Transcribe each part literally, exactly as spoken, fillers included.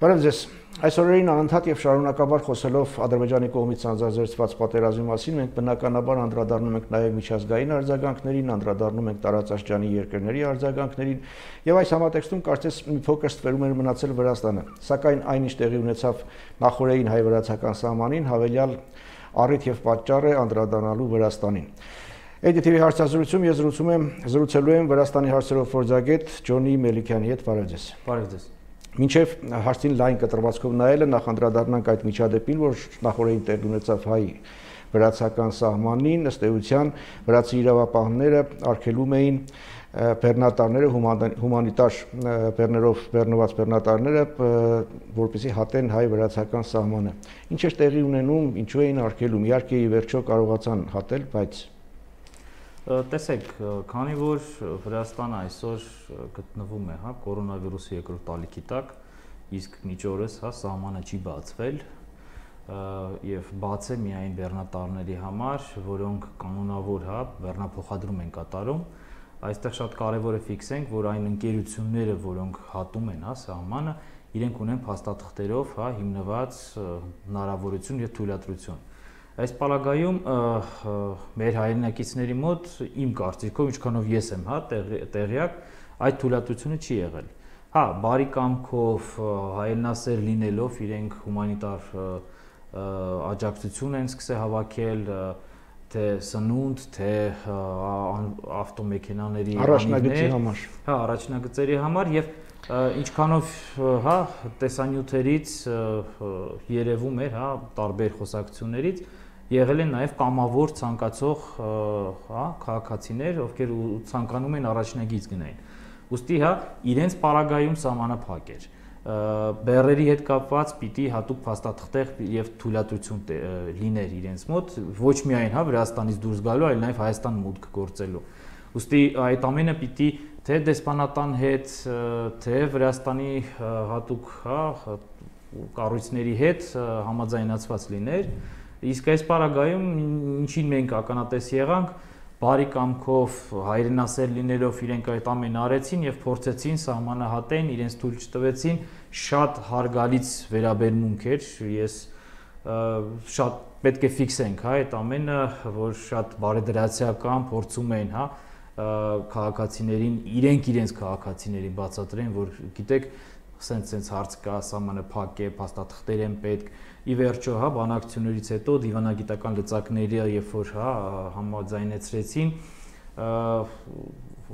Բարև ձեզ։ Այս օրերին անընդհատ եւ շարունակաբար խոսելով Ադրբեջանի կողմից անձազերծված պատերազմի մասին, մենք բնականաբար անդրադառնում ենք նաեւ միջազգային արձագանքներին, անդրադառնում ենք տարածաշրջանի երկրների արձագանքներին, եւ այս համատեքստում կարծես մի փոքր ստվերում էր մնացել Վրաստանը։ Սակայն այնինչ տեղի ունեցավ նախորդային հայ-վրացական սահմանին, հավելյալ առիթ եւ պատճառ է անդրադառնալու Վրաստանին։ Էյ դի թի վի հարցազրույցում ես զրուցում եմ զրուցելու եմ Վրաստանի հարցերով փորձագետ Ջոնի Մելիքյանի հետ։ Բարև ձեզ։ Բարև ձեզ։ Մինչև հարցին լայն կտրվածքով նայելը նախ անդրադառնանք այդ միջադեպին, որ նախորդին տեղ ունեցավ հայ-վրացական սահմանին, ըստ էության վրացի իրավապահները արգելում էին բեռնատարները, հումանիտար բեռներով բեռնված բեռնատարները, որպեսզի հատեն հայ-վրացական սահմանը։ Ինչ էր տեղի ունենում, ինչու էին արգելում, իհարկե ի վերջո կարողացան հատել, բայց Տեսեք, քանի որ Վրաստանը այսօր գտնվում է, հա, կորոնավիրուսի երկրորդ ալիքի տակ, իսկ մինչ օրս, հա, սահմանը չի բացվել, եւ բաց է միայն բեռնատարների համար, որոնք կանոնավոր, հա, բեռնափոխադրում են կատարում, այստեղ շատ կարեւոր է ֆիքսենք, որ այն ընկերությունները, որոնք հատում են, հա, սահմանը, իրենք ունեն փաստաթղթերով, հա, հիմնված հնարավորություն եւ թույլատրություն։ Այս պարագայում մեր հայրենակիցների մոտ իմ կարծիքով, ինչքանով ես եմ, հա, տեղյակ, այդ թույլատրությունը չի եղել։ Հա, բարի կամքով, հայրենասեր լինելով, իրենք հումանիտար աջակցություն են սկսել հավաքել, թե սնունդ, թե ավտոմեքենաների առաջնագծի համար։ Հա, առաջնագծերի համար եւ ինչքանով, հա, տեսանյութերից երևում էր, հա, տարբեր խոսակցություններից եղել են նաև կամավոր ցանկացող, հա, քաղաքացիներ, ովքեր ցանկանում են առաջնագիծ գնային։ Ուստի, հա, իրենց պարագայում սահմանափակ էր։ Բեռերի հետ կապված պիտի հատուկ փաստաթղթեր եւ թույլատրություն լիներ իրենց մոտ, ոչ միայն, հա, Վրաստանից դուրս գալու, այլ նաև Հայաստան մուտք գործելու։ Ուստի այդ ամենը պիտի թե դեսպանատան հետ, թե Վրաստանի հատուկ, հա, կառույցների հետ համաձայնացված լիներ, իսկ այս պարագայում ինչին մենք ականատես եղանք, բարի կամքով հայրենասեր լինելով իրենք այդ ամենը արեցին եւ փորձեցին սահմանը հատեն, իրենց թույլ չտվեցին, շատ հարգալից վերաբերմունք էր, ես շատ պետք է ֆիքսենք, հա, այդ ամենը, որ շատ բարեդրացիական փորձում էին, հա, քաղաքացիներին, իրենք իրենց քաղաքացիներին բացատրեն, որ գիտեք, սենց-սենց հարց կա, սահմանը փակ է, փաստաթղթեր են պետք, ի վերջո, հա, բանակցություններից հետո դիվանագիտական լծակները, երբ որ, հա, համաձայնեցրեցին,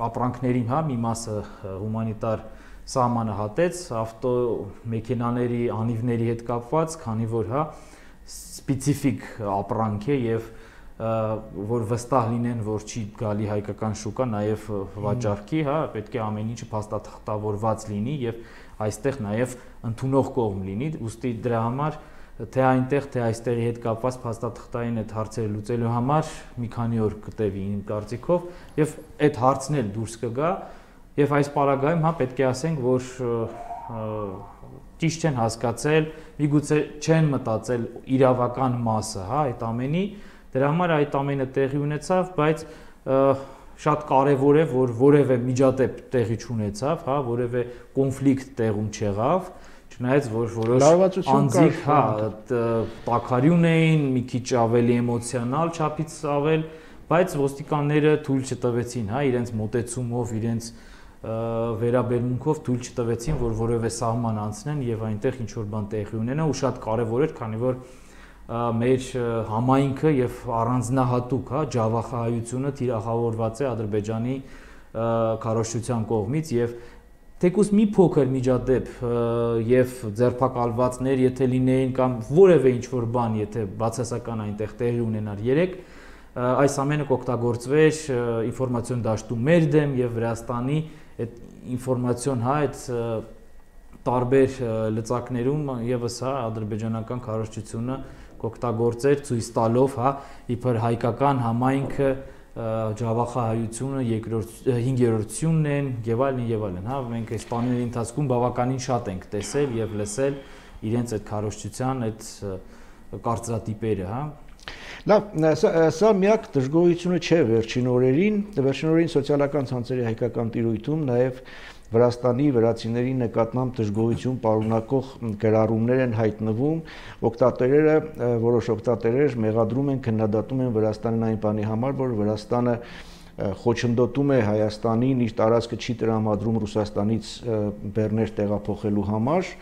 ապրանքներին, հա, մի մասը հումանիտար սահմանը հատեց, ավտոմեքենաների անիվների հետ կապված, քանի որ, հա, սպეციფიկ ապրանք է եւ որ վստահ լինեն, որ չի գալի հայկական շուկա, նաև վաճառքի, հա, պետք է ամեն ինչը փաստաթղթավորված լինի եւ այստեղ նաև ընդունող կողմ լինի, ուստի դրա համար թե այնտեղ, թե այստեղի հետ կապված փաստաթղթային այդ հարցերը լուծելու համար մի քանի օր կտևի իմ կարծիքով եւ այդ հարցն էլ դուրս կգա եւ այս պարագայում, հա, պետք է ասենք, որ ճիշտ չեն հասկացել, միգուցե չեն մտածել իրավական մասը, հա, այդ ամենի, դրա համար այդ ամենը տեղի ունեցավ, բայց շատ կարևոր է, որ որևէ միջադեպ տեղի չունեցավ, հա, որևէ կոնֆլիկտ տեղում չեղավ, չնայած որ որոշ անձիկ, հա, տաքարյուն էին, մի քիչ ավելի էմոցիոնալ չափից ավել, բայց ոստիկանները թույլ չտվեցին, հա, իրենց մոտեցումով, իրենց վերաբերմունքով թույլ չտվեցին, որ որևէ սահման անցնեն եւ այնտեղ ինչ որ բան տեղի ունենա, ու շատ կարևոր էր, քանի որ մեր համայնքը եւ առանձնահատուկ, հա, ջավախահայությունը թիրախավորված է Ադրբեջանի քարոզչության կողմից եւ թեկուզ մի փոքր միջադեպ եւ ձերբակալվածներ, եթե լինեին կամ որևէ ինչ որ բան, եթե բացասական այնտեղ տեղի ունենար երեք, այս ամենը կօգտագործվեր ինֆորմացիոն դաշտում մեր դեմ եւ Վրաստանի այդ ինֆորմացիոն, հա, այդ տարբեր լծակներում եւս, հա, ադրբեջանական քարոզչությունը կօգտագործեր ցույց տալով, հա, իբր հայկական համայնքը ջավախահայությունը հինգերորդությունն են եւ այլն եւ այլն, հա, մենք այս բաների ընթացքում բավականին շատ ենք տեսել եւ լսել իրենց այդ քարոզչության այդ կարծրատիպերը, հա։ Լավ, սա միակ դժգոհությունը չէ վերջին օրերին, վերջին օրերին սոցիալական ցանցերի հայկական տիրույթում նաև Վրաստանի վրացիների նկատմամբ դժգոհություն պարունակող գրառումներ են հայտնվում, օգտատերերը, որոշ օգտատերեր մեղադրում են, քննադատում են Վրաստանին այն բանի համար, որ Վրաստանը խոչընդոտում է Հայաստանին, իր տարածքը չի տրամադրում Ռուսաստանից բեռներ տեղափոխելու համար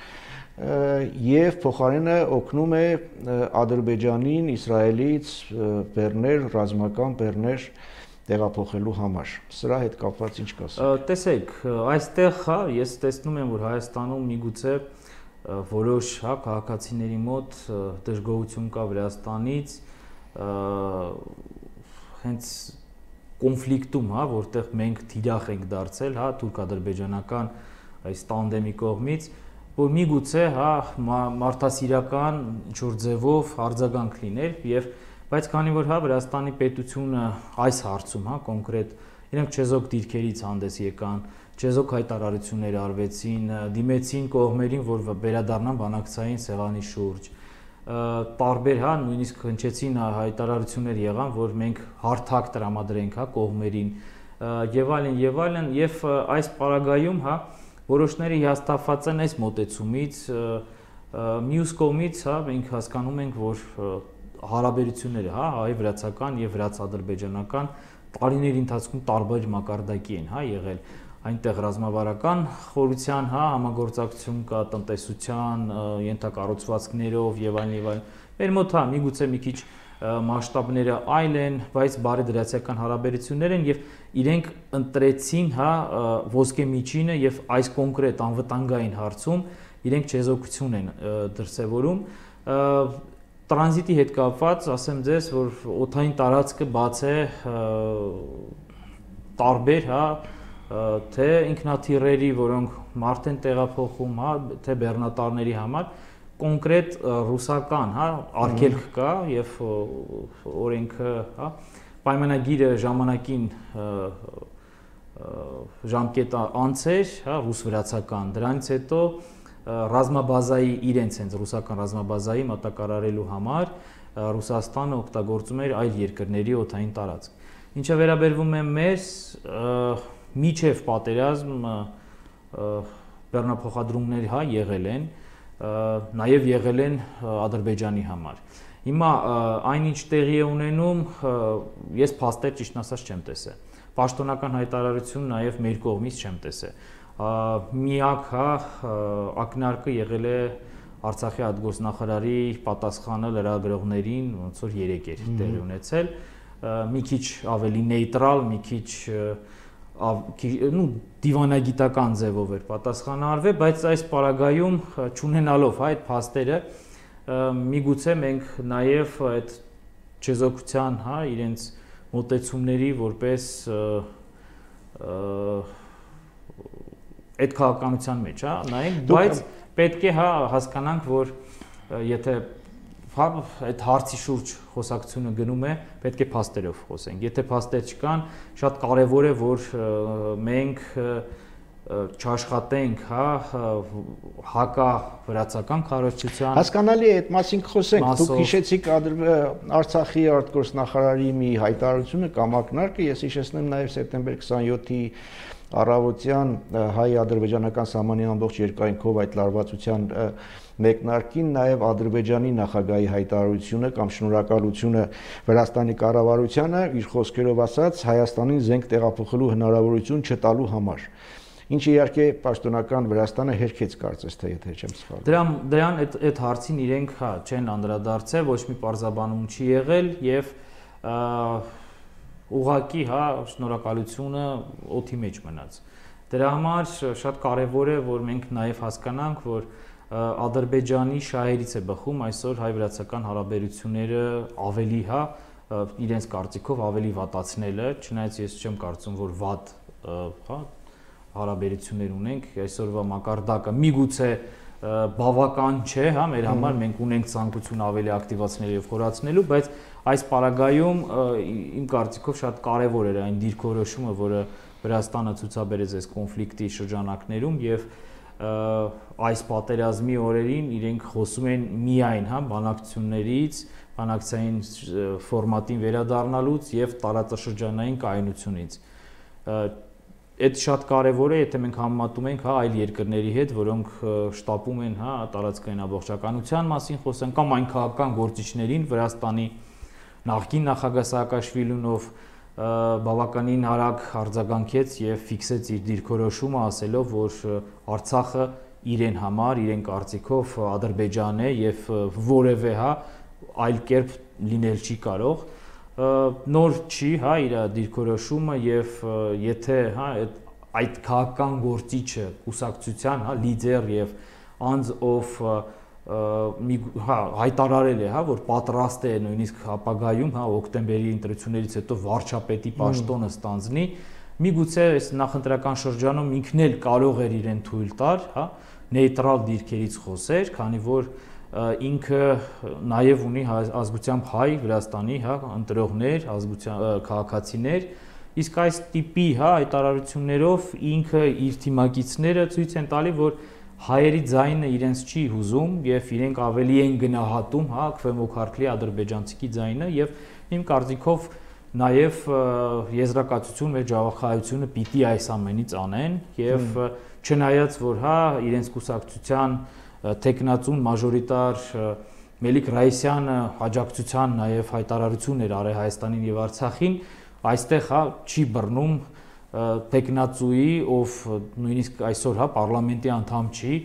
եւ փոխարենը օգնում է Ադրբեջանին Իսրայելից բեռներ, ռազմական բեռներ տեղափոխելու համար։ Սրա հետ կապված ինչ կասեք։ Տեսեք, այստեղ հա ես տեսնում եմ, որ Հայաստանում միգուցե որոշ հա քաղաքացիների մոտ դժգոհություն կա Վրաստանից, հենց կոնֆլիկտում, հա, որտեղ մենք թիրախ ենք դարձել, հա, թուրք-ադրբեջանական այս տանդեմի կողմից, որ միգուցե հա մարդասիրական ինչ-որ ձևով արձագանք լիներ եւ բայց քանի որ հա Վրաստանի պետությունը այս հարցում հա կոնկրետ իրենք չեզոք դիրքերից հանդես եկան, չեզոք հայտարարություններ արվեցին, դիմեցին կողմերին, որ վերադառնան բանակցային սեղանի շուրջ, տարբեր հա նույնիսկ հնչեցին հայտարարություններ եղան, որ մենք հարթակ տրամադրենք հա կողմերին եւ այլն եւ այլն եւ այս պարագայում հա որոշները հիասթափված են այս մոտեցումից, մյուս կողմից հա մենք հասկանում ենք, որ հարաբերությունները հա հայ-վրացական եւ վրաց-ադրբեջանական տարիների ընթացքում տարբեր մակարդակի են հա եղել այնտեղ ռազմավարական խորության հա համագործակցություն կա տնտեսության ենթակառուցվածքներով եւ այլն եւ այլն մեր մոտ հա միգուցե մի քիչ մասշտաբները այլ են բայց բարեդրացիական հարաբերություններ են եւ իրենք ընտրեցին հա ոսկե միջինը եւ այս կոնկրետ անվտանգային հարցում իրենք չեզոքություն են դրսեւորում Տրանզիտի հետ կապված, ասեմ ձեզ, որ օդային տարածքը բաց է տարբեր, հա, թե ինքնաթիռերի, որոնք մարդ են տեղափոխում, հա, թե բեռնատարների համար, կոնկրետ ռուսական, հա, արգելք կա եւ օրենքը, հա, պայմանագիրը ժամանակին ժամկետը անց էր, հա, ռուս-վրացական, դրանից հետո ռազմաբազայի իրենց հենց ռուսական ռազմաբազայի մատակարարելու համար Ռուսաստանը օգտագործում էր այլ երկրների օդային տարածք։ Ինչը վերաբերվում է մեզ, միջև պատերազմ բեռնափոխադրումներ հա եղել են, նաև եղել են Ադրբեջանի համար։ Հիմա այնինչ տեղի է ունենում, ես փաստեր ճիշտ ասած չեմ տեսել։ Պաշտոնական հայտարարություն նաև մեր կողմից չեմ տեսել։ Միակ հա ակնարկը եղել է Արցախի արտգործնախարարի պատասխանը լրագրողներին, ոնց որ երեք էր տեղի ունեցել, մի քիչ ավելի նեյտրալ, մի քիչ նու դիվանագիտական ձևով էր պատասխանը արվել, բայց այս պարագայում չունենալով այդ փաստերը, միգուցե մենք նաև այդ չեզոքության, հա, իրենց մոտեցումների որպես այդ քաղաքականության մեջ, հա, նայենք, բայց պետք է հա հասկանանք, որ եթե հա այդ հարցի շուրջ խոսակցությունը գնում է, պետք է փաստերով խոսենք։ Եթե փաստեր չկան, շատ կարևոր է, որ մենք չաշխատենք, հա, հակա վրացական քարոզչության։ Հասկանալի է, այդ մասին խոսենք։ Դուք հիշեցիք Արցախի արտգործնախարարի մի հայտարարությունը կամ ակնարկը, ես հիշեցնեմ նաև սեպտեմբեր քսանյոթի առավոտյան հայ-ադրբեջանական սահմանի ամբողջ երկայնքով այդ լարվածության մեկնարկին նաև Ադրբեջանի նախագահի հայտարարությունը կամ շնորհակալությունը Վրաստանի կառավարությանը իր խոսքերով ասած Հայաստանին զենք տեղափոխելու հնարավորություն չտալու համար։ Ինչը իհարկե պաշտոնական Վրաստանը հերքեց կարծես թե եթե չեմ սխալվում։ Դրան դրան այդ այդ հարցին իրենք հա չեն անդրադարձել, ոչ մի պարզաբանում չի եղել եւ ուղղակի հա շնորհակալությունը օդի մեջ մնաց։ Դրա համար շատ կարևոր է, որ մենք նաև հասկանանք, որ Ադրբեջանի շահերից է բխում այսօր հայ-վրացական հարաբերությունները ավելի հա իրենց կարծիքով ավելի վատացնելը, չնայած ես չեմ կարծում, որ վատ հա հարաբերություններ ունենք, այսօրվա մակարդակը միգուցե բավական չէ, հա, մեր համար մենք ունենք ցանկություն ավելի ակտիվացնելու եւ խորացնելու, բայց այս պարագայում իմ կարծիքով շատ կարեւոր էր այն դիրքորոշումը, որը Վրաստանը ցուցաբերեց այս կոնֆլիկտի շրջանակներում եւ այս պատերազմի օրերին իրենք խոսում են միայն, հա, բանակցություններից, բանակցային ֆորմատին վերադառնալուց եւ տարածաշրջանային կայունությունից։ Այդ շատ կարևոր է, եթե մենք համեմատում ենք, հա, այլ երկրների հետ, որոնք շտապում են, հա, տարածքային ամբողջականության մասին խոսեն, կամ այն քաղաքական գործիչներին Վրաստանի նախկին նախագահ Սաակաշվիլին, ով բավականին արագ արձագանքեց եւ ֆիքսեց իր դիրքորոշումը, ասելով, որ Արցախը իրեն համար, իրեն կարծիքով Ադրբեջանն է եւ որևէ, հա, այլ կերպ լինել չի կարող։ Նոր չի, հա, իր դիրքորոշումը եւ եթե, հա, այդ քաղաքական գործիչը կուսակցության, հա, լիդեր եւ անձ ով հա հայտարարել է, հա, որ պատրաստ է նույնիսկ ապագայում, հա, օկտեմբերի ընտրություններից հետո վարչապետի պաշտոնը ստանձնի, միգուցե այս նախընտրական շրջանում ինքն էլ կարող էր իրեն թույլ տալ, հա, նեյտրալ դիրքերից խոսեր, քանի որ ինքը նաև ունի ազգությամբ հայ Վրաստանի, հա, ընտրողներ, ազգության քաղաքացիներ, իսկ այս տիպի, հա, հայտարարություններով ինքը իր թիմակիցները ցույց են տալի, որ հայերի ձայնը իրենց չի հուզում եւ իրենք ավելի են գնահատում, հա, քվեմոքարքլի ադրբեջանցիքի ձայնը եւ իմ կարծիքով նաեւ եզրակացություն մեր ջավախայությունը պիտի այս ամենից անեն եւ չնայած որ, հա, իրենց կուսակցության տեխնացուն մաժորիտար Մելիք Ռայիսյանը աջակցության նաև հայտարարություն էր արել Հայաստանին եւ Արցախին, այստեղ, հա, չի բռնում տեխնացուի, ով նույնիսկ այսօր, հա, պարլամենտի անդամ չի,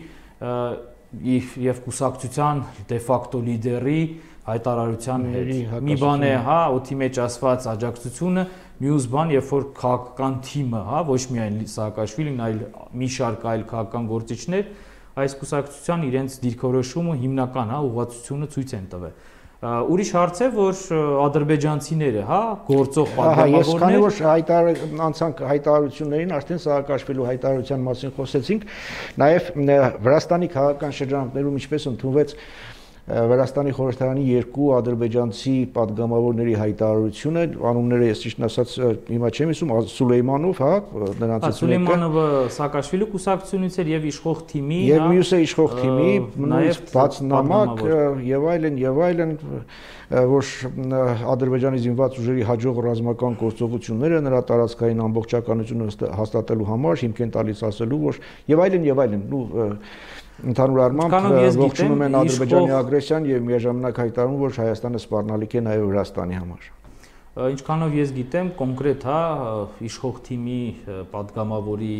եւ կուսակցության դե ֆակտո լիդերի հայտարարության հետ։ Մի բան է, հա, օդի մեջ ասված աջակցությունը, մյուս բան, երբ որ քաղաքական թիմը, հա, ոչ միայն Սաակաշվիլին, այլ մի շարք այլ քաղաքական գործիչներ այս կուսակցության իրենց դիրքորոշումը հիմնական, հա, ուղղվածությունը ցույց են տվել։ Ուրիշ հարց է, որ ադրբեջանցիները, հա, գործող պատգամավորներ, ես քանի որ հայտար անցանք հայտարարություններին, արդեն Սաակաշվիլու հայտարարության մասին խոսեցինք, նաև Վրաստանի քաղաքական շրջանակներում ինչպես ընդունվեց Վրաստանի խորհրդարանի երկու ադրբեջանցի պատգամավորների հայտարարությունը, անունները ես ճիշտ ասած հիմա չեմ հիշում, Սուլեյմանով, հա, նրանցից մեկը, Սուլեյմանովը Սաակաշվիլու կուսակցությունից էր եւ իշխող թիմի, եւ մյուսը իշխող թիմի, նաև բաց նամակ եւ այլն եւ այլն, որ Ադրբեջանի զինված ուժերի հաջող ռազմական գործողությունները նրա տարածքային ամբողջականությունը հաստատելու համար հիմք են տալիս ասելու, որ եւ այլն եւ այլն, ու ընդհանուր առմամբ ողջունում են Ադրբեջանի ագրեսիան եւ միաժամանակ հայտարարում, որ Հայաստանը սպառնալիք է նաեւ Վրաստանի համար։ Ինչքանով ես գիտեմ, կոնկրետ, հա, իշխող թիմի պատգամավորի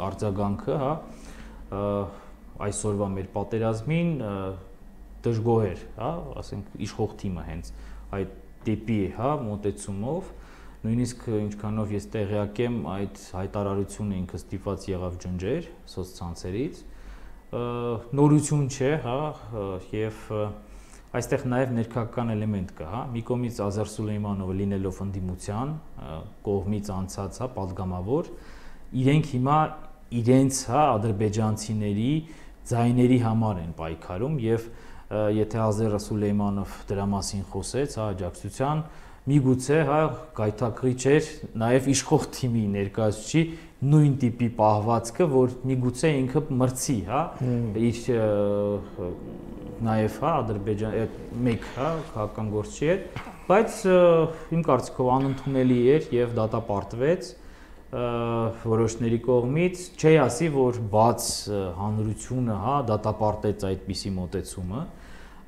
արձագանքը, հա, այսօրվա մեր պատերազմին դժգոհ էր, հա, ասենք իշխող թիմը հենց այդ տիպի, հա, մոտեցումով, նույնիսկ ինչքանով ես տեղյակ եմ, այդ հայտարարությունը ինքը ստիպված եղավ ջնջեր սոցցանցերից, նորություն չէ, հա, եւ այստեղ նաեւ ներքաղաքական էլեմենտ կա, հա, մի կողմից Ազար Սուլեյմանովը լինելով ընդդիմության կողմից անցած, հա, պատգամավոր, իրենք հիմա իրենց, հա, ադրբեջանցիների ձայների համար են պայքարում եւ եթե Ազար Սուլեյմանով դրա մասին խոսեց, հա, աջակցության, միգուցե, հա, գայթակղի չէր նաեւ իշխող թիմի ներկայացուցիչի նույն տիպի պահվածքը, որ միգուցե ինքը մրցի, հա, իր նաև, հա, Ադրբեջան մեկ, հա, քաղաքական գործիչ էր, բայց իմ կարծիքով անընդունելի էր եւ դատապարտվեց որոշների կողմից, չի ասի, որ բաց հանրությունը, հա, դատապարտեց այդպիսի մոտեցումը,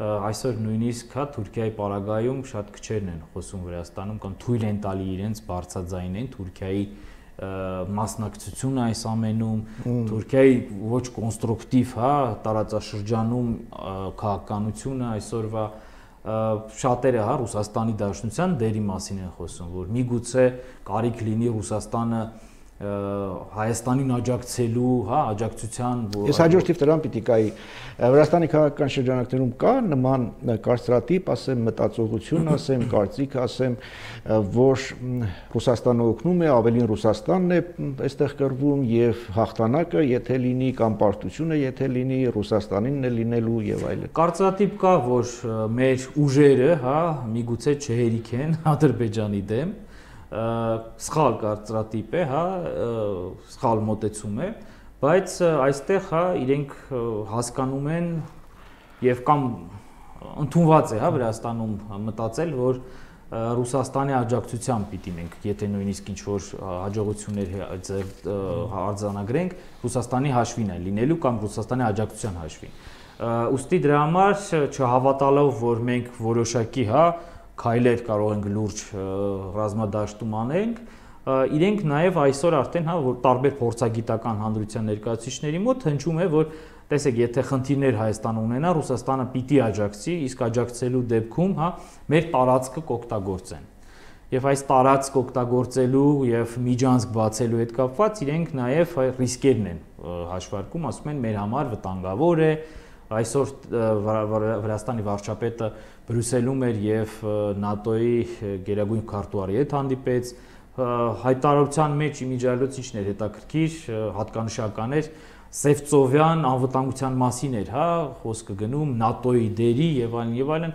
այսօր նույնիսկ, հա, Թուրքիայի պարագայում շատ քչերն են խոսում Վրաստանում կամ թույլ են տալի իրենց բարձրաձայնեն Թուրքիայի մասնակցությունը այս ամենում, Թուրքիայի ոչ կոնստրուկտիվ, հա, տարածաշրջանում քաղաքականությունը այսօրվա շատերը, հա, Ռուսաստանի Դաշնության դերի մասին են խոսում, որ միգուցե կարիք լինի Ռուսաստանը Հայաստանին աջակցելու, հա, աջակցության, Ես հաջորդիվ դրան պիտի կայի, Վրաստանի քաղաքական շրջանակներում կա նման կարծրատիպ, ասեմ, մտածողություն, ասեմ, կարծիք, ասեմ, որ Ռուսաստանը օգնում է, ավելին Ռուսաստանն է այստեղ կռվում եւ հաղթանակը, եթե լինի, կամ պարտությունը, եթե լինի, Ռուսաստանինն է լինելու եւ այլն։ Կարծրատիպ կա, որ մեր ուժերը, հա, միգուցե չհերիք են Ադրբեջանի դեմ, սխալ կարծրատիպ է, հա, սխալ մոտեցում է, բայց այստեղ, հա, իրենք հասկանում են եւ կամ ընդունված է, հա, Վրաստանում մտածել, որ Ռուսաստանի աջակցությամբ պիտի մենք, եթե նույնիսկ ինչ-որ հաջողություններ արձանագրենք, Ռուսաստանի հաշվին է լինելու կամ Ռուսաստանի աջակցության հաշվին։ Ուստի դրա համար չհավատալով, որ մենք որոշակի, հա, քայլեր կարող ենք լուրջ ռազմադաշտում անենք, իրենք նաև այսօր արդեն, հա, որ տարբեր փորձագիտական հանրության ներկայացուցիչների մոտ հնչում է, որ տեսեք, եթե խնդիրներ Հայաստանը ունենա, Ռուսաստանը պիտի աջակցի, իսկ աջակցելու դեպքում, հա, մեր տարածքը կօգտագործեն։ Եվ այս տարածք օգտագործելու եւ միջանցք բացելու հետ կապված իրենք նաև ռիսկերն են հաշվարկում, ասում են մեր համար վտանգավոր է։ Այսօր Վրաստանի վարչապետը Բրյուսելում էր եւ ՆԱՏՕ-ի գերագույն քարտուղարի հետ հանդիպեց, հայտարարության մեջ իմիջիայլոց ինչն էր հետաքրքիր, հատկանշական էր, Սևծովյան անվտանգության մասին էր, հա, խոսքը գնում ՆԱՏՕ-ի դերի եւ այլն եւ այլն,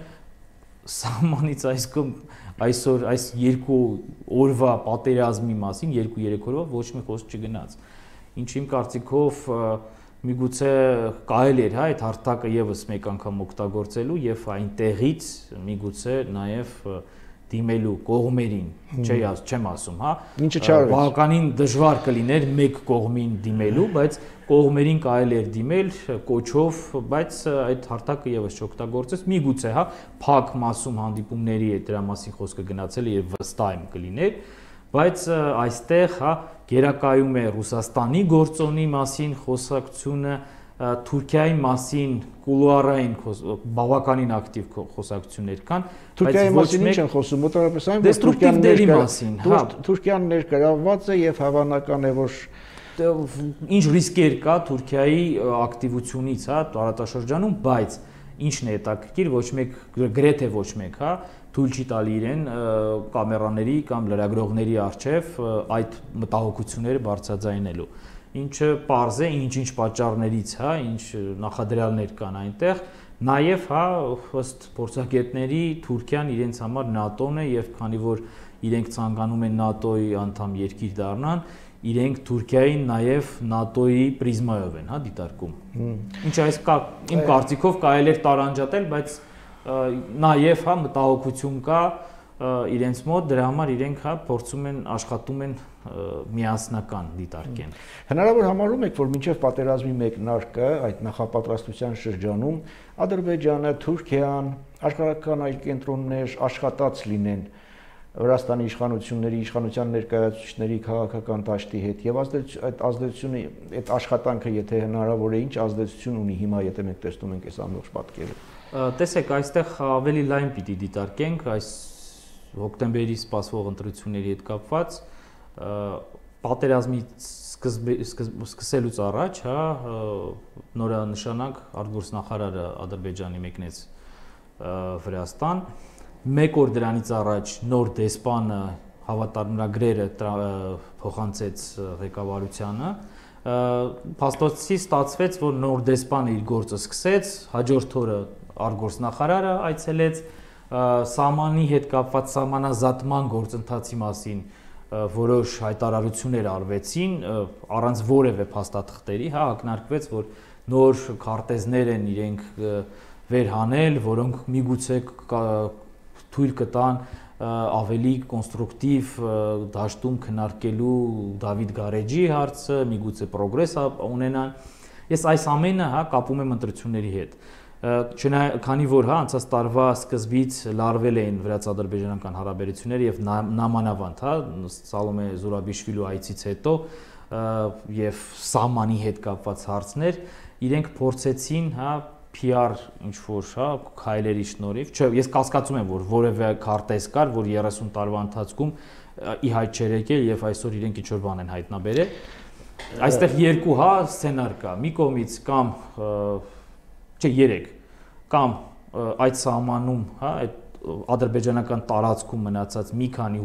սահմանից այսքան այսօր այս երկու օրվա պատերազմի մասին, երկու-երեք օրվա ոչ մի խոսք չգնաց։ Ինչ իմ կարծիքով միգուցե կարելի էր, հա, այդ հարթակը եւս մեկ անգամ օգտագործելու եւ այնտեղից միգուցե նաեւ դիմելու կողմերին, չի ասում, չեմ ասում, հա, ինչը չարվեց։ Բավականին դժվար կլիներ մեկ կողմին դիմելու, բայց կողմերին կարելի էր դիմել կոչով, բայց այդ հարթակը եւս չօգտագործեց, միգուցե, հա, փակ մասում հանդիպումների է դրա մասին խոսքը գնացել եւ վստահ եմ կլիներ, բայց այստեղ, հա, գերակայում է Ռուսաստանի գործոնի մասին խոսակցությունը, Թուրքիայի մասին կուլուարային բավականին ակտիվ խոսակցություններ կան, Թուրքիայի մասին ինչ են խոսում, մոտավորապես այն, որ Թուրքիան դերի մասին, հա, Թուրքիան ներգրավված է եւ հավանական է, որ ինչ ռիսկեր կա Թուրքիայի ակտիվությունից, հա, տարածաշրջանում, բայց ինչն է հետաքրքիր, ոչ մեկ գրեթե ոչ մեկ, հա, թույլ չի տալի իրեն կամերաների կամ լրագրողների առջև այդ մտահոգությունները բարձրաձայնելու։ Ինչը պարզ է, ինչ-ինչ պատճառներից, հա, ինչ նախադրյալներ կան այնտեղ, նաև, հա, ըստ փորձագետների Թուրքիան իրենց համար ՆԱՏՕ-ն է եւ քանի որ իրենք ցանկանում են ՆԱՏՕ-ի անդամ երկիր դառնան, իրենք Թուրքիային նաև ՆԱՏՕ-ի պրիզմայով են, հա, դիտարկում։ Ինչ այս կա, իմ կարծիքով կարելի է տարանջատել, բայց նաև, հա, մտահոգություն կա իրենց մոտ, դրա համար իրենք, հա, փորձում են, աշխատում են միասնական դիտարկեն։ Հնարավոր համարում եք, որ մինչև պատերազմի մեկնարկը այդ նախապատրաստության շրջանում Ադրբեջանը, Թուրքիան, աշխարհական այլ կենտրոններ աշխատած լինեն Վրաստանի իշխանությունների, իշխանության ներկայացուցիչների քաղաքական դաշտի հետ եւ այդ ազդեցությունը, այդ աշխատանքը, եթե հնարավոր է, ինչ ազդեցություն ունի հիմա, եթե մենք տեսնում ենք այս ամբողջ պատկերը։ Տեսեք, այստեղ ավելի լայն պիտի դիտարկենք այս հոկտեմբերի սպասվող ընտրությունների հետ կապված, պատերազմի սկսելուց առաջ, հա, նորանշանակ արտգործնախարարը Ադրբեջանի մեկնեց Վրաստան, մեկ օր դրանից առաջ նոր դեսպանը հավատարմագրերը փոխանցեց ղեկավարությանը, փաստոցի ստացվեց, որ նոր դեսպանը իր գործը սկսեց, հաջորդ օրը արտգործնախարարը այցելեց, սահմանի հետ կապված սահմանազատման գործընթացի մասին որոշ հայտարարություններ արվեցին, առանց որևէ փաստաթղթերի, հա, ակնարկվեց, որ նոր քարտեզներ են իրենք վերհանել, որոնք միգուցե թույլ կտան ավելի կոնստրուկտիվ դաշտում քննարկելու Դավիթ Գարեջի հարցը, միգուցե պրոգրես ունենան։ Ես այս ամենը, հա, կապում եմ ընտրությունների հետ։ Քանի որ, հա, անցած տարվա սկզբից լարվել էին վրաց-ադրբեջանական հարաբերությունները եւ նամանավանդ, հա, Սալոմե Զուրաբիշվիլու այցից հետո եւ սահմանի հետ կապված հարցներ, իրենք փորձեցին, հա, P R ինչ-որ, հա, քայլերի շնորհիվ, չէ, ես կասկածում եմ, որ որևէ քարտեզ կար, որ երեսուն տարվա ընթացքում ի հայտ չէր եկել եւ այսօր իրենք ինչ-որ բան են հայտնաբերել։ Այստեղ երկու, հա, սցենար կա։ Մի կողմից կամ չէ, երեք, կամ այդ սահմանում, հա, այդ ադրբեջանական տարածքում մնացած մի քանի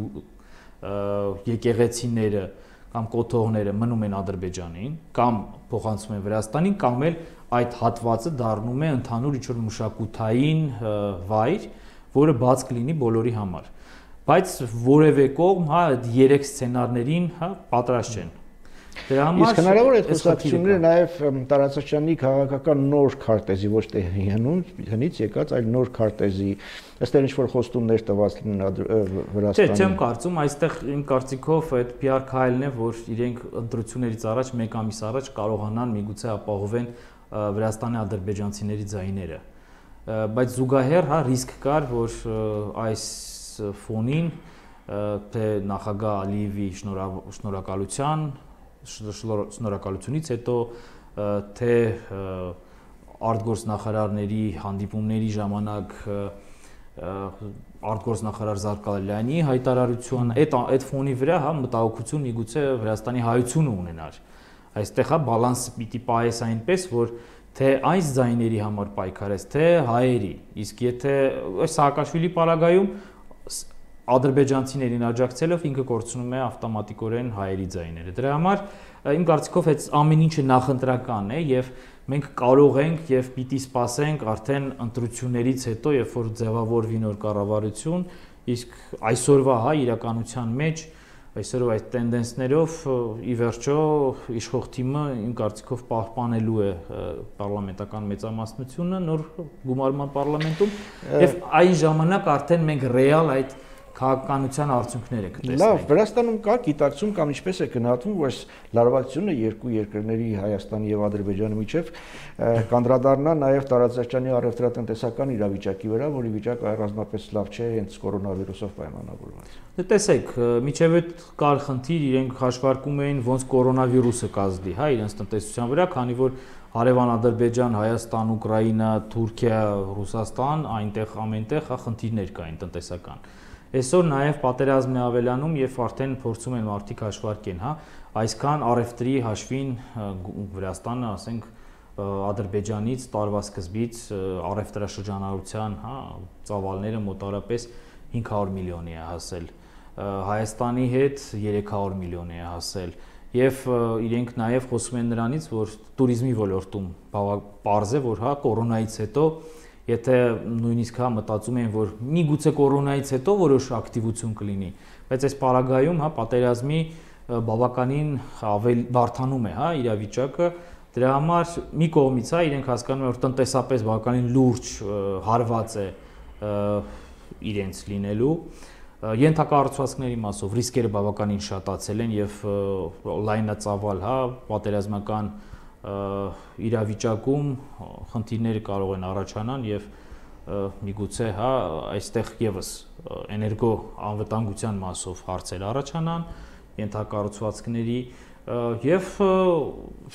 եկեղեցիները կամ կոթողները մնում են Ադրբեջանին, կամ փոխանցվում են Վրաստանին, կամ էլ այդ հատվածը դառնում է ընդհանուր ինչ-որ մշակութային վայր, որը բաց կլինի բոլորի համար։ Բայց որևէ կողմ, հա, այդ երեք սցենարներին, հա, պատրաստ չեն։ Դրա համար իսկ հնարավոր է այդ խոսակցությունները նաև տարածաշրջանի քաղաքական նոր քարտեզի ոչ թե հնից եկած, այլ նոր քարտեզի ըստ ինչ որ խոստումներ տված լինեն Վրաստանի։ Չէ, չեմ կարծում, այստեղ իմ կարծիքով այդ պի արի քայլն է, որ իրենք ընտրություններից առաջ մեկ ամիս առաջ կարողանան միգուցե ապահովեն Վրաստանի ադրբեջանցիների ձայները։ Բայց զուգահեռ հա ռիսկ կար, որ այս ֆոնին թե նախագահ Ալիևի շնորհակալության շնորհակալությունից հետո թե արտգործնախարարների հանդիպումների ժամանակ արտգործնախարար Զարգալյանի հայտարարություն այդ այդ ֆոնի վրա հա մտահոգություն միգուցե Վրաստանի հայությունը ունենար։ Այստեղ հա բալանսը պիտի պահես այնպես, որ թե այս ձայների համար պայքարես, թե հայերի։ Իսկ եթե Սաակաշվիլի պարագայում ադրբեջանցիներին աջակցելով ինքը կորցնում է ավտոմատիկորեն հայերի ձայները։ Դրա համար իմ կարծիքով այդ ամեն ինչը նախընտրական է եւ մենք կարող ենք եւ պիտի սպասենք արդեն ընտրություններից հետո, երբ որ ձևավորվի նոր կառավարություն, իսկ այսօրվա հա իրականության մեջ այսօր այդ տենդենսներով ի վերջո իշխող թիմը իմ կարծիքով պահպանելու է պարլամենտական մեծամասնությունը նոր գումարման պարլամենտում եւ այն ժամանակ արդեն մենք ռեալ այդ քաղաքականության արդյունքները կտեսնենք։ Լավ, Վրաստանում կա գիտակցում կամ ինչպես է գնահատվում, որ լարվածությունը երկու երկրների Հայաստանի եւ Ադրբեջանի միջև կանդրադառնա նաեւ տարածաշրջանի առևտրատնտեսական իրավիճակի վրա, որի վիճակը առանձնապես լավ չէ հենց կորոնավիրուսով պայմանավորված։ Դե տեսեք, միջև այդ կար խնդիր, իրենք հաշվարկում էին ոնց կորոնավիրուսը կազդի, հա, իրենց տնտեսության վրա, քանի որ Հարևան Ադրբեջան, Հայաստան, Ուկրաինա, Թուրքիա, Ռուսաստան, այնտեղ ամենտեղ հա խնդիրներ կային տնտեսական։ Այսօր նաև պատերազմն է ավելանում եւ արդեն փորձում են մարդիկ հաշվարկեն, հա, այսքան առևտրի հաշվին Վրաստանը, ասենք, Ադրբեջանից տարվա սկզբից առևտրաշրջանառության, հա, ծավալները մոտարապես հինգ հարյուր միլիոնի է հասել, Հայաստանի հետ երեք հարյուր միլիոնի է հասել եւ իրենք նաև խոսում են նրանից, որ туриզմի ոլորտում պարզ է, որ հա կորոնայից հետո եթե նույնիսկ հա մտածում են, որ միգուցե կորոնայից հետո որոշ ակտիվություն կլինի, բայց այս պարագայում հա պատերազմի բավականին ավել բարթանում է, հա, իրավիճակը, դրա համար մի կողմից հա իրենք հասկանում են, որ տնտեսապես բավականին լուրջ հարված է իրենց լինելու, ենթակառուցվածքների մասով ռիսկերը բավականին շատացել են եւ լայնածավալ հա պատերազմական իրավիճակում խնդիրները կարող են առաջանան եւ միգուցե հա այստեղ եւս էներգո անվտանգության մասով հարցեր առաջանան ենթակառուցվածքների եւ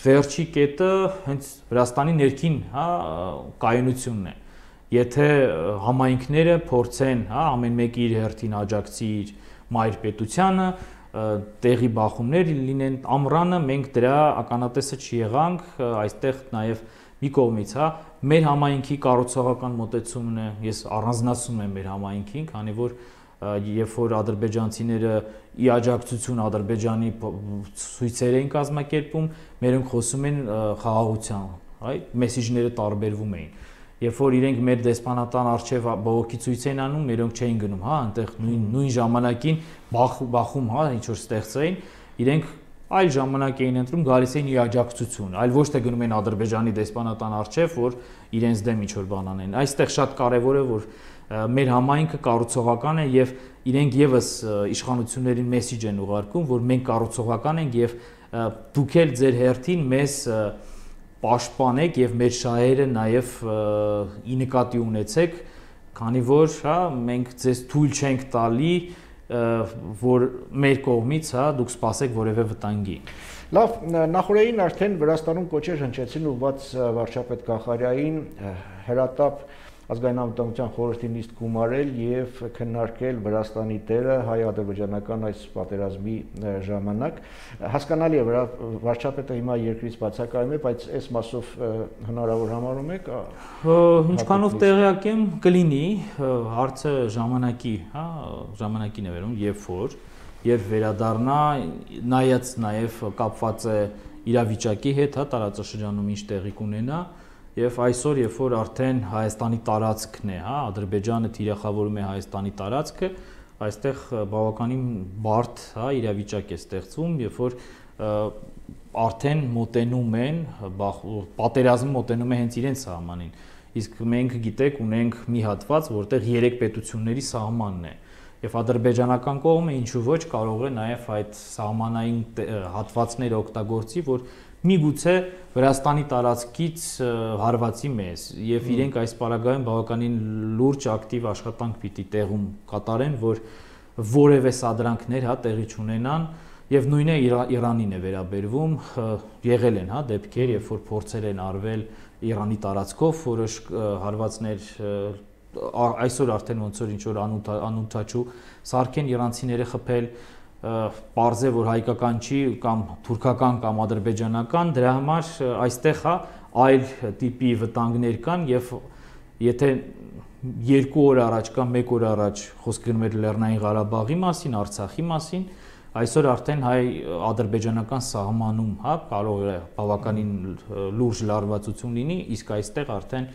վերջի կետը հենց Վրաստանի ներքին հա կայունությունն է եթե համայնքները փորձեն հա ամեն մեկը իր հերթին աջակցի իր մայր պետությանը տեղի բախումներ լինեն ամռանը մենք դրա ականատեսը չեղանք այստեղ նաև մի կողմից հա մեր համայնքի կառուցողական մոտեցումն է ես առանձնացնում եմ մեր համայնքին քանի որ երբ որ ադրբեջանցիները ի աջակցություն Ադրբեջանի ցույցեր էին կազմակերպում մերոնք խոսում են խաղաղության այ մեսեջները տարբերվում էին երբ որ իրենք մեր դեսպանատան արչև բողոքի ցույց են անում, մերոնք չէին գնում, հա, այնտեղ նույն նույն ժամանակին բախում, հա, ինչ որ ստեղծեին, իրենք այլ ժամանակ էին ընտրում, գալիս էին ի աջակցություն, այլ ոչ թե գնում են Ադրբեջանի դեսպանատան արչև, որ իրենց դեմ ինչ որ բան անեն։ Այստեղ շատ կարևոր է, որ մեր համայնքը կառուցողական է եւ իրենք եւս իշխանություններին մեսեջ են ուղարկում, որ մենք կառուցողական ենք եւ դուք էլ ձեր հերթին մեզ պաշտպանեք եւ մեր շահերը նաեւ ի նկատի ունեցեք, քանի որ հա մենք ձեզ թույլ չենք տալի, որ մեր կողմից հա դուք սպասեք որևէ վտանգի։ Լավ, նախորդին արդեն Վրաստանում կոչեր հնչեցին ուղղված վարչապետ Կախարյային հրատապ ազգային անվտանգության խորհրդի նիստ գումարել եւ քննարկել Վրաստանի դերը հայ-ադրբեջանական այս պատերազմի ժամանակ հասկանալի է վարչապետը հիմա երկրից բացակայում է բայց այս մասով հնարավոր համարում եք ինչքանով տեղյակ եմ կլինի հարցը ժամանակի հա ժամանակին է վերում երբ որ երբ վերադառնա նայած նաեւ կապված է իրավիճակի հետ հա տարածաշրջանում ինչ տեղի կունենա Եվ այսօր, երբ որ արդեն Հայաստանի տարածքն է, հա, Ադրբեջանը թիրախավորում է Հայաստանի տարածքը, այստեղ բավականին բարդ, հա, իրավիճակ է ստեղծվում, երբ որ արդեն մոտենում են, պատերազմը մոտենում է հենց իրենց սահմանին։ Իսկ մենք գիտեք ունենք մի հատված, որտեղ երեք պետությունների սահմանն է։ Եվ ադրբեջանական կողմը ինչու ոչ կարող է նաև այդ սահմանային հատվածները օգտագործի, որ միգուցե Վրաստանի տարածքից հարվածի մեզ եւ իրենք այս պարագայում բավականին լուրջ ակտիվ աշխատանք պիտի տեղում կատարեն, որ որևէ սադրանքներ հա տեղի չունենան եւ նույնը Իրանին է վերաբերվում, եղել են հա դեպքեր, երբ որ փորձեր են արվել Իրանի տարածքով որոշ հարվածներ այսօր արդեն ոնց որ ինչ որ անունթաչու սարքեն իրանցիները խփել պարզ է որ հայկական չի կամ թուրքական կամ ադրբեջանական դրա համար այստեղ հա այլ տիպի վտանգներ կան եւ եթե երկու օր առաջ կամ մեկ օր առաջ խոսք գնում էր Լեռնային Ղարաբաղի մասին, Արցախի մասին, այսօր արդեն հայ-ադրբեջանական սահմանում հա կարող է բավականին լուրջ լարվածություն լինի, իսկ այստեղ արդեն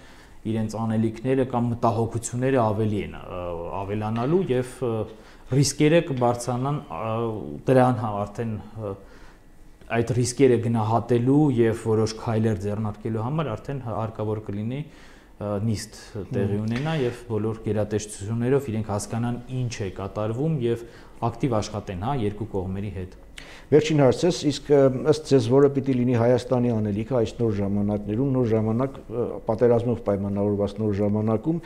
իրենց անելիքները կամ մտահոգությունները ավելի են ավելանալու եւ ռիսկերը կբարձրանան դրան արդեն այդ ռիսկերը գնահատելու եւ որոշ քայլեր ձեռնարկելու համար արդեն հարկավոր կլինի նիստ տեղի ունենա եւ բոլոր գերատեսչություններով իրենք հասկանան ինչ է կատարվում եւ ակտիվ աշխատեն հա երկու կողմերի հետ։ Վերջին հարցս, իսկ ըստ ձեզ որը պիտի լինի Հայաստանի անելիքը այս նոր ժամանակներում, նոր ժամանակ պատերազմով պայմանավորված նոր ժամանակում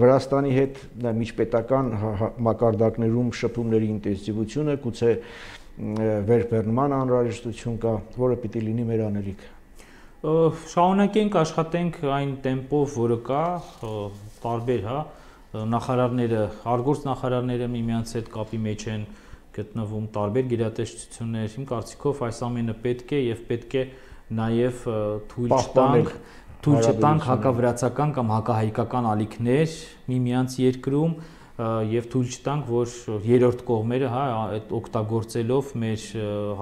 Վրաստանի հետ միջպետական մակարդակներում շփումների ինտենսիվությունը, գուցե վերբեռնման անհրաժեշտություն կա, որը պիտի լինի մեր անելիքը։ Շարունակենք աշխատենք այն տեմպով, որը կա, տարբեր հա նախարարները, արգործ նախարարները միմյանց հետ կապի մեջ են գտնվում տարբեր գերատեսչություններ, իմ կարծիքով այս ամենը պետք է եւ պետք է նաեւ թույլ չտանք, թույլ չտանք հակավրացական կամ հակահայկական ալիքներ միմյանց երկրում եւ թույլ չտանք, որ երրորդ կողմերը հա այդ օգտագործելով մեր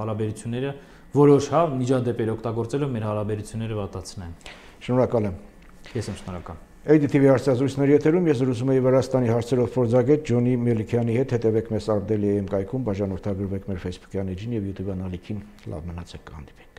հարաբերությունները որոշ հա միջադեպեր օգտագործելով մեր հարաբերությունները վատացնեն։ Շնորհակալ եմ։ Ես եմ շնորհակալ։ A D T V հարցազրույցների եթերում ես զրուցում եի Վրաստանի հարցերով փորձագետ Ջոնի Մելիքյանի հետ, հետևեք մեզ Ardeli.am կայքում, բաժանորդագրվեք մեր Facebook-յան էջին եւ YouTube անալիքին, լավ մնացեք, կհանդիպենք։